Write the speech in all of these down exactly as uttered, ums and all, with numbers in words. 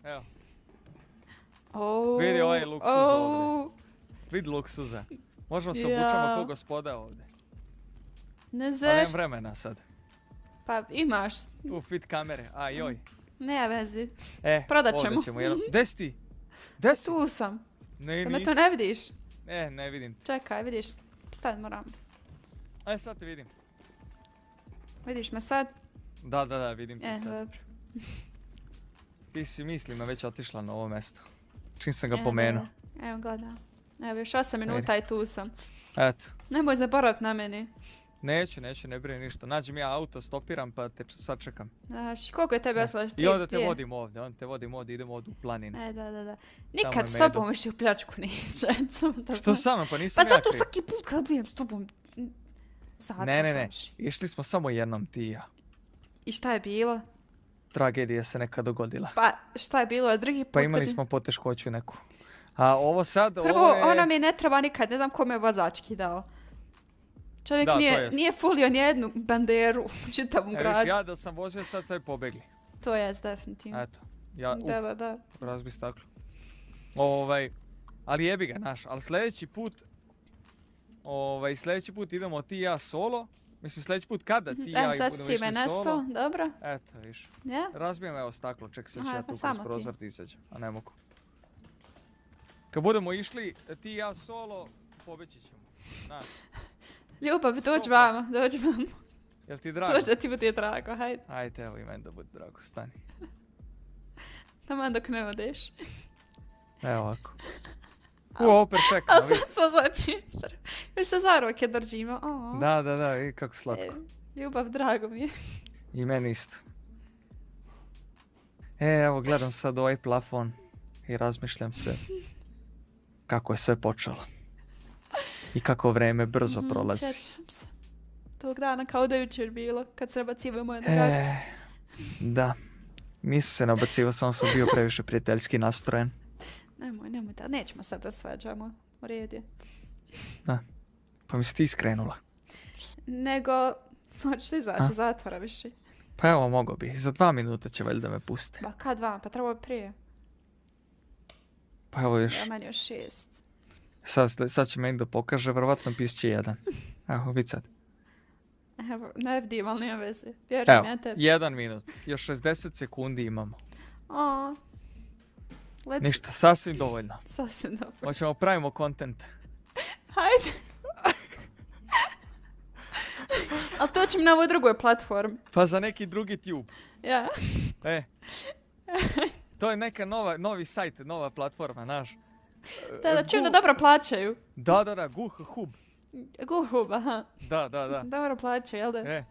Evo. Oh, Vidi ovaj luksuz oh. ovdje. Vidi luksuza. Možemo se obučamo Ja. ko gospoda ovdje. Ne Ali zeš. nemam vremena sad. Pa imaš. U fit kamere, a joj. Ne vezi. E, Prodat ovdje ćemo. ćemo jedan. Gdje si ti? Gdje si? Tu sam. Ne, Pa me nisi. to ne vidiš? E, ne vidim. Čekaj, vidiš. Stavit moram. Aj, sad te vidim. Vidiš me sad? Da, da, da, vidim te E, sad. dobro. Ti si mislima već otišla na ovo mjesto. Čim sam ga E, pomenuo. da. Evo gledam. Evo još osam minuta i tu sam. Eto. Nemoj zaboravit na meni. Neću, neću, ne brini ništa. Nađem ja auto, stopiram pa te č- sačekam. Znaš, koliko je tebe osla što I onda te vodim ovdje, onda te vodim ovdje, idemo ovdje u planine. E, da, da, da. je Nikad s medo. tobom više u pljačku neće. Samo da Što znaš. sa mnom, pa nisam Pa ja zato kriv. svaki put kad bijem s tobom... Zatvor Ne, ne, ne. završi. Išli smo samo jednom ti i ja. I šta je bilo? Tragedija se neka dogodila. Pa šta je bilo? A drugi put Pa kad imali si- smo poteškoću neku. A ovo sad, Prvo, ovo je... ona mi ne treba nikad, ne znam kome je vozački dao. Čovjek Da, to nije, jest. nije fulio nijednu banderu u čitavom E, viš, gradu. ja da sam vozio sad sad pobegli. To je definitivno. Eto. Ja, uf, Da, da, da. razbi staklo. Ovaj, ali jebi ga, naš. Ali sljedeći put, ovaj, sljedeći put idemo ti i ja solo. Mislim, sljedeći put kada ti i ja Evo i sad si budemo ti išli me solo. nestao, dobro. Eto, viš. Ja? Razbijem evo staklo, ček se Aha, ja pa tu kroz samo ti. prozor ti izađem, a ne mogu. Kad budemo išli ti i ja solo, pobeći ćemo. Znaš, Ljubav, dođi Sto vama, dođi vama. jel ti drago? Dođi da ti bude drago, hajde. Ajde, evo i meni da bude drago, stani. Taman dok ne odeš. Evo ovako. U, ovo perfektno, A vidi. sad sa znači, još se za ruke držimo. O, Da, da, da, vidi kako e, slatko. ljubav, drago mi je. I meni isto. E, evo, gledam sad ovaj plafon i razmišljam se kako je sve počelo. I kako vreme brzo Mhm, prolazi. Sjećam se. Tog dana kao da je jučer bilo, kad se nabacivaju moje E, drugarice. da. Nisam se nabacivao, samo sam bio previše prijateljski nastrojen. Nemoj, nemoj, da, nećemo sad da svađamo. U redu je. Da. Pa mi si ti skrenula. Nego, hoćeš ti izaći A? iz zatvora više? Pa evo, mogo bi. Za dva minuta će valjda me puste. Ba, kad vam? Pa trebalo je prije. Pa evo još. Ja, meni još šest. Sad, sad će meni da pokaže, vjerovatno pisće jedan. Evo, vid sad. Evo, ne vidim, ali nema veze. Vjerujem Evo, ja tebi. jedan minut. Još šezdeset sekundi imamo. O, let's... Ništa, sasvim dovoljno. Sasvim dobro. Hoćemo pravimo kontent. Hajde. Ali to ćemo na ovoj drugoj platformi. Pa za neki drugi tube. Ja. E. To je neka nova, novi sajt, nova platforma, naš. Da, da, čujem da dobro plaćaju. Da, da, da, Guh Hub. Guhub, aha. Da, da, da. Dobro plaćaju, jel da? E.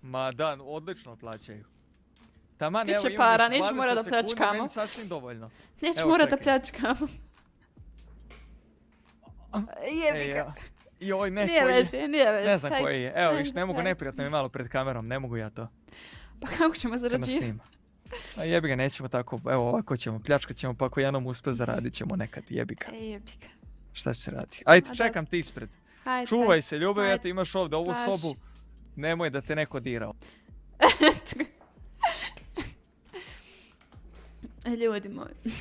Ma da, odlično plaćaju. Taman, Biće evo imam para, još nećemo morat da dvadeset sekundi, pljačkamo. meni sasvim dovoljno. Neću Evo, morat da čekaj. pljačkamo. Jebi E, ga. ja. I ovaj ne, Nije koji je? veze, nije veze. Ne znam Hajde, koji je. Evo, hajde, viš, ne mogu hajde. neprijatno mi malo pred kamerom, ne mogu ja to. Pa kako ćemo Kad nas zarađivati? snima. A jebi ga, nećemo tako, evo ovako ćemo, pljačkat ćemo, pa ako jednom uspe zaradit ćemo nekad, jebi ga. E, jebi ga. Šta se radi? Ajde, A, čekam ti ispred. Hajde, Čuvaj hajde. se, ljubav, ja Ajde. te imaš ovdje, ovu Baš. sobu. Nemoj da te neko dirao. E, ljudi moji.